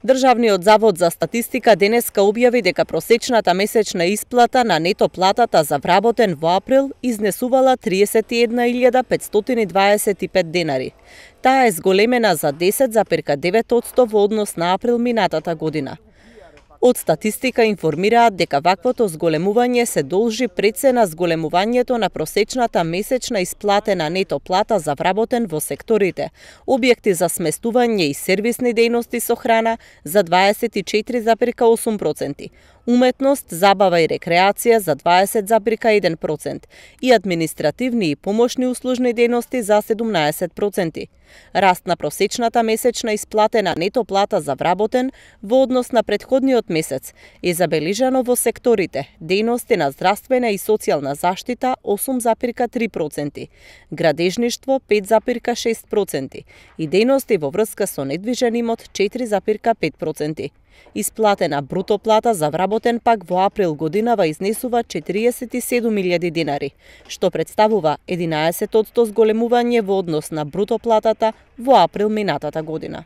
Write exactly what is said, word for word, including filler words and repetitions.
Државниот завод за статистика денеска објави дека просечната месечна исплата на нето платата за вработен во април изнесувала триесет и една илјада петстотини и дваесет и пет денари. Таа е зголемена за десет запирка девет одсто во однос на април минатата година. Од статистика информираат дека ваквото зголемување се должи пред се на зголемувањето на просечната месечна исплатена нето плата за вработен во секторите: објекти за сместување и сервисни дејности со храна за дваесет и четири запирка осум проценти, уметност, забава и рекреација за дваесет запирка еден процент и административни и помошни услужни дејности за седумнаесет проценти. Раст на просечната месечна исплатена нето плата за вработен во однос на претходниот месец е забележано во секторите: дејности на здравствена и социјална заштита осум запирка три проценти, градежништво пет запирка шест проценти и дејности во врска со недвижен имот четири запирка пет проценти. Исплатена бруто плата за вработен пак во април годинава изнесува четириесет и седум илјади динари, што представува единаесет одсто зголемување во однос на бруто платата во април минатата година.